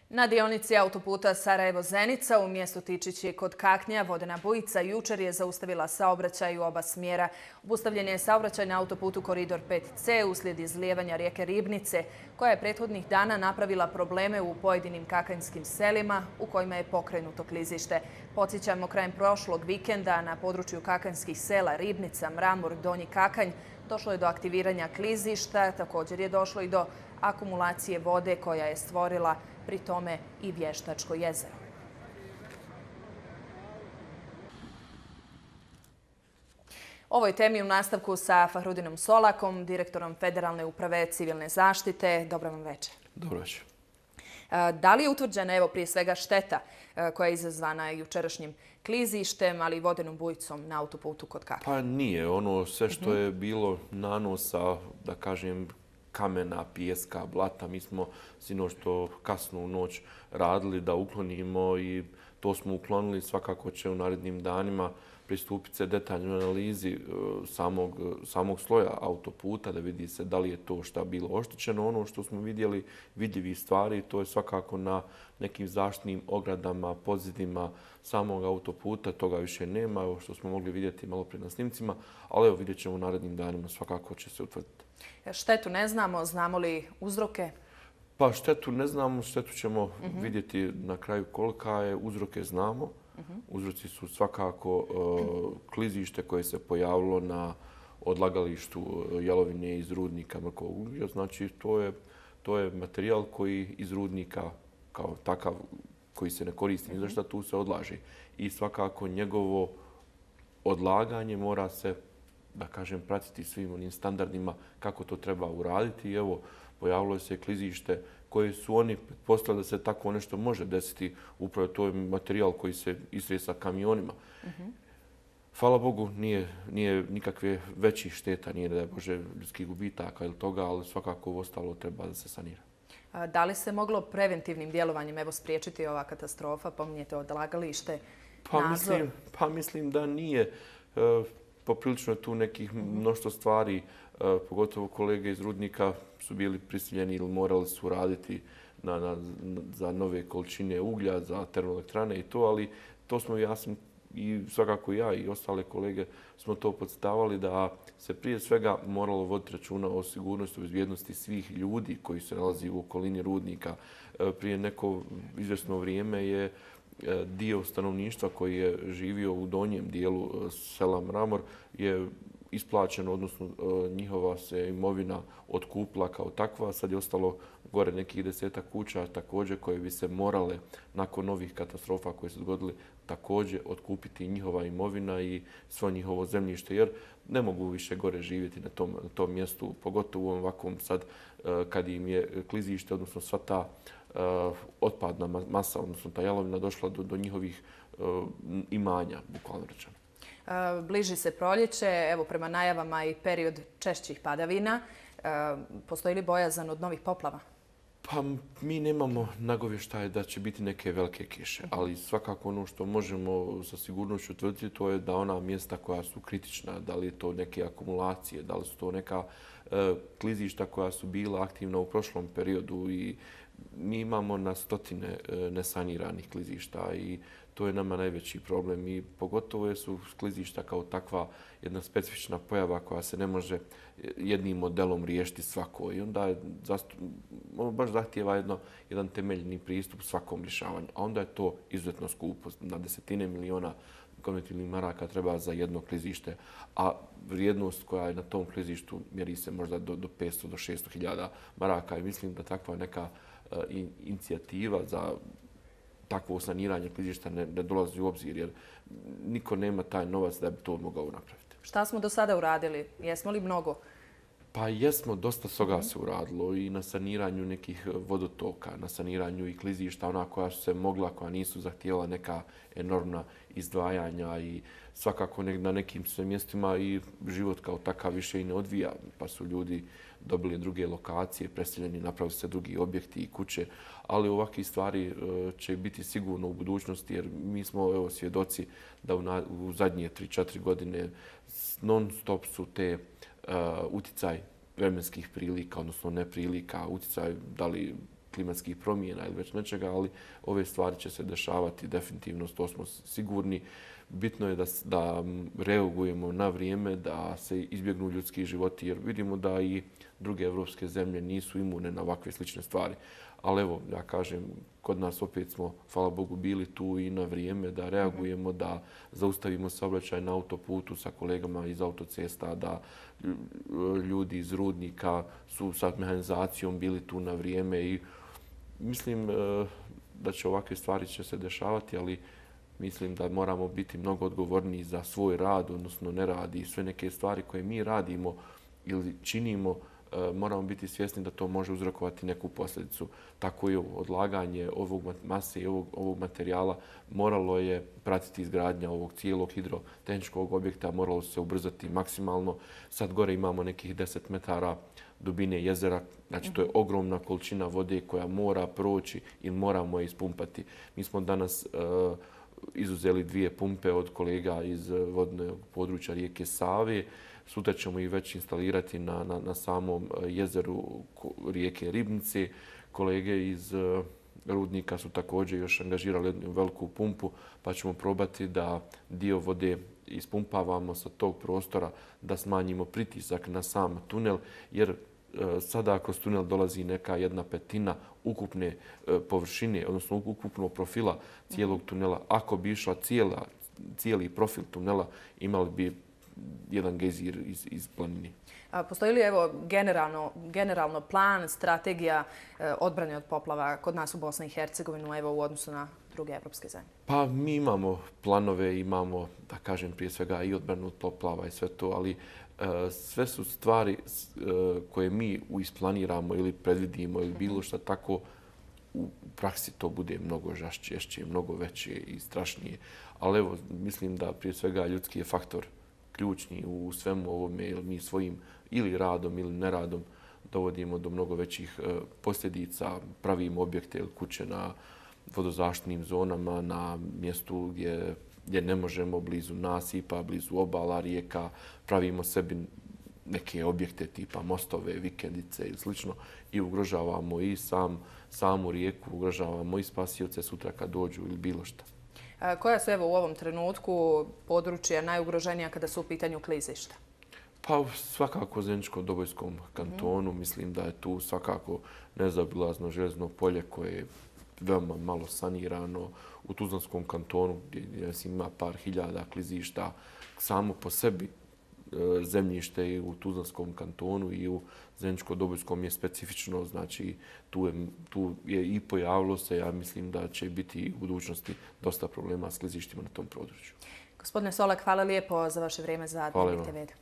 Na dionici autoputa Sarajevo-Zenica u mjestu Tičići kod Kaknja vodena bujica jučer je zaustavila saobraćaj u oba smjera. Obustavljen je saobraćaj na autoputu Koridor 5C uslijed izlijevanja rijeke Ribnice, koja je prethodnih dana napravila probleme u pojedinim kakanjskim selima u kojima je pokrenuto klizište. Podsjećamo, krajem prošlog vikenda na području kakanjskih sela Ribnica, Mramor, Donji Kakanj došlo je do aktiviranja klizišta. Također je došlo i do akumulacije vode koja je stvorila pri tome i Vještačko jezero. Ovoj temi u nastavku sa Fahrudinom Solakom, direktorom Federalne uprave civilne zaštite. Dobro vam večer. Dobro večer. Da li je utvrđena, prije svega, šteta koja je izazvana jučerašnjim klizištem, ali i vodenom bujicom na autoputu kod Kaknja? Pa nije. Ono sve što je bilo nanosa, da kažem, kamena, pijeska, blata. Mi smo sinoć to kasno u noć radili da uklonimo i to smo uklonili. Svakako će u narednim danima pristupiti se detaljnoj analizi samog sloja autoputa da vidi se da li je to šta bilo oštećeno. Ono što smo vidjeli, vidljivih stvari, to je svakako na nekim zaštitnim ogradama, pozidima samog autoputa. Toga više nema, evo što smo mogli vidjeti malo prije na snimcima, ali evo vidjet ćemo u narednim danima, svakako će se utvrditi. Štetu ne znamo, znamo li uzroke? Pa štetu ne znamo, štetu ćemo vidjeti na kraju kolika je, uzroke znamo. Uzroci su svakako klizište koje se pojavilo na odlagalištu jalovine iz rudnika mrkovog uglja. Znači to je materijal koji iz rudnika kao takav koji se ne koristi ni za šta, tu se odlaže. I svakako njegovo odlaganje mora se, da kažem, pratiti svim onim standardima kako to treba uraditi. I evo, pojavilo se klizište koje su oni pretpostavili da se tako nešto može desiti. Upravo to je materijal koji se istresa kamionima. Hvala Bogu, nije nikakve većih šteta, nije da je Bože ljudskih gubitaka ili toga, ali svakako ostalo treba da se sanira. Da li se moglo preventivnim djelovanjem spriječiti ova katastrofa? Pominjete odlagalište, nadzor? Pa mislim da nije. Poprilično je tu nekih mnoštvo stvari, pogotovo kolege iz rudnika su bili prisiljeni ili morali su raditi za nove količine uglja, za termoelektrane i to, ali to smo i svakako ja i ostale kolege smo to podstavali da se prije svega moralo voditi računa o sigurnosti i bezbjednosti svih ljudi koji se nalazi u okolini rudnika. Prije neko izvjesno vrijeme je dio stanovništva koji je živio u donjem dijelu sela Mramor je isplaćeno, odnosno njihova se imovina otkupila kao takva. Sad je ostalo gore nekih 10 kuća također koje bi se morale nakon novih katastrofa koje se dogodili također otkupiti njihova imovina i svo njihovo zemljište, jer ne mogu više gore živjeti na tom mjestu, pogotovo u ovakvom sad kad im je klizište, odnosno sva ta otpadna masa, odnosno ta jalovina došla do njihovih imanja, bukvalno rečeno. Bliži se proljeće, evo prema najavama i period češćih padavina. Postoji li bojazan od novih poplava? Pa mi nemamo nagovještaje da će biti neke velike kiše, ali svakako ono što možemo sa sigurnošću utvrditi to je da ona mjesta koja su kritična, da li je to neke akumulacije, da li su to neka klizišta koja su bila aktivna u prošlom periodu i mi imamo na stotine nesaniranih klizišta i to je nama najveći problem i pogotovo su klizišta kao takva jedna specifična pojava koja se ne može jednim modelom riješiti svako i onda baš zahtijeva jedan temeljni pristup svakom rješavanju, a onda je to izuzetno skupo. Na desetine miliona konvertibilnih maraka treba za jedno klizište, a vrijednost koja je na tom klizištu mjeri se možda do 500 do 600 hiljada maraka i mislim da takva neka inicijativa za takvo saniranje klizišta ne dolazi u obzir, jer niko nema taj novac da bi to mogao napraviti. Šta smo do sada uradili? Jesmo li mnogo? Pa jesmo, dosta toga se uradilo i na saniranju nekih vodotoka, na saniranju i klizišta, ona koja su se mogla, koja nisu zahtijevala neka enormna izdvajanja i svakako na nekim sve mjestima i život kao takav više i ne odvija, pa su ljudi dobili druge lokacije, preseljeni, napravili se drugi objekti i kuće, ali ovakve stvari će biti sigurno u budućnosti jer mi smo svjedoci da u zadnje 3-4 godine non stop su te uticaj vremenskih prilika, odnosno neprilika, uticaj da li klimatskih promjena ili već nečega, ali ove stvari će se dešavati definitivno, to smo sigurni. Bitno je da reagujemo na vrijeme, da se izbjegnu ljudski životi, jer vidimo da i druge evropske zemlje nisu imune na ovakve slične stvari. Ali evo, ja kažem, kod nas opet smo, hvala Bogu, bili tu i na vrijeme da reagujemo, da zaustavimo saobraćaj na autoputu sa kolegama iz autocesta, da ljudi iz rudnika su sa mehanizacijom bili tu na vrijeme i mislim da će ovakve stvari će se dešavati, ali mislim da moramo biti mnogo odgovorniji za svoj rad, odnosno nerad i sve neke stvari koje mi radimo ili činimo, moramo biti svjesni da to može uzrokovati neku posljedicu. Tako i odlaganje ovog mase i ovog materijala moralo je pratiti izgradnja ovog cijelog hidrotehničkog objekta, moralo se ubrzati maksimalno. Sad gore imamo nekih 10 metara dubine jezera, znači to je ogromna količina vode koja mora proći i moramo je ispumpati. Mi smo danas izuzeli 2 pumpe od kolega iz vodnog područja rijeke Save. Sutra ćemo ih već instalirati na samom jezeru rijeke Ribnice. Kolege iz rudnika su također još angažirali jednu veliku pumpu, pa ćemo probati da dio vode ispumpavamo sa tog prostora, da smanjimo pritisak na sam tunel, jer sada kroz tunel dolazi neka 1/5 ukupne površine, odnosno ukupnog profila cijelog tunela. Ako bi išla cijeli profil tunela, imali bi jedan gejzir iz planine. Postoji li generalno plan, strategija odbrane od poplava kod nas u Bosni i Hercegovini u odnosu na druge evropske zemlje? Pa mi imamo planove, imamo, da kažem, prije svega i odbranu od poplava i sve to, ali sve su stvari koje mi isplaniramo ili predvidimo ili bilo što tako, u praksi to bude mnogo žešće, mnogo veće i strašnije. Ali evo, mislim da prije svega ljudski je faktor ključni u svemu ovome, jer mi svojim ili radom ili neradom dovodimo do mnogo većih posljedica, pravimo objekte ili kuće na vodozaštitnim zonama, na mjestu gdje ne možemo, blizu nasipa, blizu obala rijeka, pravimo sebi neke objekte tipa mostove, vikendice ili slično i ugrožavamo i samu rijeku, ugrožavamo i spasioce sutra kad dođu ili bilo što. Koja su evo u ovom trenutku područja najugroženija kada su u pitanju klizišta? Pa svakako u Zeničko-Dobojskom kantonu. Mislim da je tu svakako nezaobilazno željezno polje koje je veoma malo sanirano. U Tuzlanskom kantonu gdje ima par hiljada klizišta, samo po sebi zemljište i u Tuzlanskom kantonu i u Zeničko-Dobojskom je specifično, znači tu je i pojavilo se, ja mislim da će biti u budućnosti dosta problema s klizištima na tom području. Gospodine Solak, hvala lijepo za vaše vrijeme za Dnevnik TV.